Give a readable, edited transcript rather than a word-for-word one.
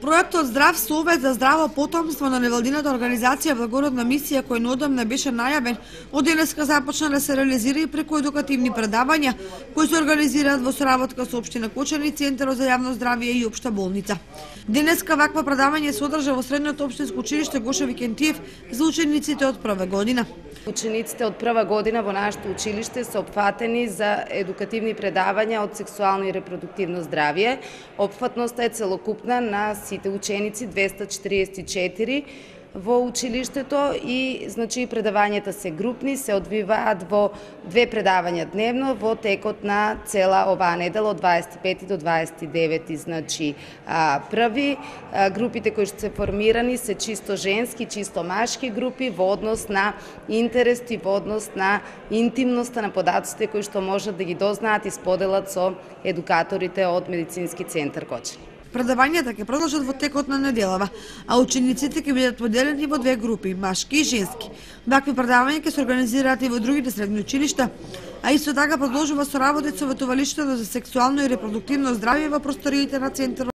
Проектот Здрав совет за здраво потомство на невладината организација Благородна мисија, кој неодамна беше најавен, од денеска започна да се реализира и преку едукативни предавања кои се организираат во соработка со општина Кочани, Центарот за јавно здравје и општа болница. Денеска вакво предавање се одржа во средното општинско училиште Гоше Викентиев за учениците од прва година. Учениците од прва година во нашето училиште се опфатени за едукативни предавања од сексуално и репродуктивно здравје. Опфатноста е целокупна на сите ученици, 244 во училиштето и предавањата се групни, се одвиваат во 2 предавања дневно во текот на цела оваа недела од 25 до 29. Први групите кои што се формирани се чисто женски, чисто машки групи во однос на интерес и во однос на интимноста на податоците кои што можат да ги дознаат и споделат со едукаторите од Медицински центар Кочани. Предавањата ќе продолжат во текот на неделава, а учениците ќе бидат поделени во 2 групи, машки и женски. Вакви предавања ќе се организираат и во другите средни училишта, а исто така продолжува соработата со ветувалиштето за сексуално и репродуктивно здравје во просториите на Центарот